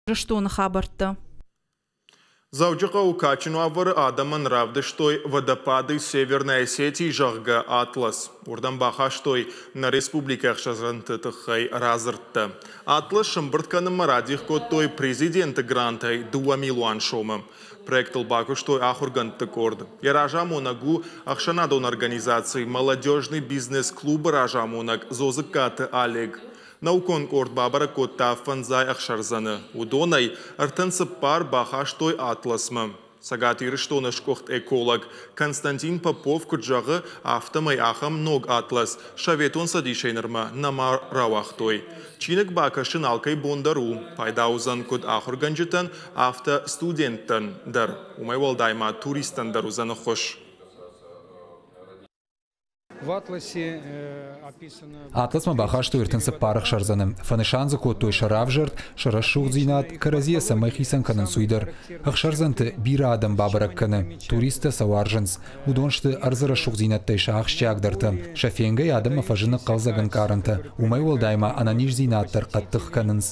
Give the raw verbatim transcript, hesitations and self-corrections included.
Ирыстоны хабӕрттӕ. Дзӕуджыхъӕуы кадджын уавӕры адӕмӕн равдыстой «Водопады Северной Осетии», зӕгъгӕ, атлас. Уырдӕм бахастой нӕ республикӕйы ӕхсӕрдзӕнты тыххӕй радзырдтӕ. Атлас сӕмбырд кӕнынмӕ радих кодтой президенты грантӕй дыууӕ милуан сомы. Проектыл бакуыстой ахуыргӕндты къорд. Йӕ разамонӕг у ӕхсӕнадон организаци «Молодежный бизнес-клуб»-ы разамонӕг Дзодзыккаты Олег. Наукон къорд бабӕрӕг кодта фӕндзай ӕхсӕрдзӕны. Уыдонӕй ӕртын цыппар бахастой атласмӕ. Цӕгат Ирыстоны сгуыхт эколог Константин Попов куыд зӕгъы, афтӕмӕй ахӕм ног атлас Советон Цӕдисӕй нырмӕ нӕма рауагътой. Чиныг бакӕсын алкӕй бон дӕр у. Пайда уыдзӕн куыд ахуыргӕнджытӕн, афтӕ студенттӕн дӕр. Уымӕй уӕлдай ма туристтӕн дӕр уыдзӕн ӕххуыс. Атласмӕ бахастой ӕртын цыппар ӕхсӕрдзӕны. Фӕнысан дзы кодтой сӕ равзӕрд, сӕ рӕсугъддзинад, кӕрӕдзийӕ цӕмӕй хицӕн кӕнынц, уый дӕр. Ӕхсӕрдзӕнты бирӕ адӕм бабӕрӕг кӕны. Туристтӕ сӕ уарзынц. Уыдон сты ӕрдзы рӕсугъддзинӕдтӕй сӕ ахсджиагдӕртӕ. Сӕ фенгӕйӕ адӕммӕ фӕзыны хъӕлдзӕг ӕнкъарӕнтӕ. Уымӕй уӕлдай ма ӕнӕниздзинад дӕр хъӕддых кӕнынц.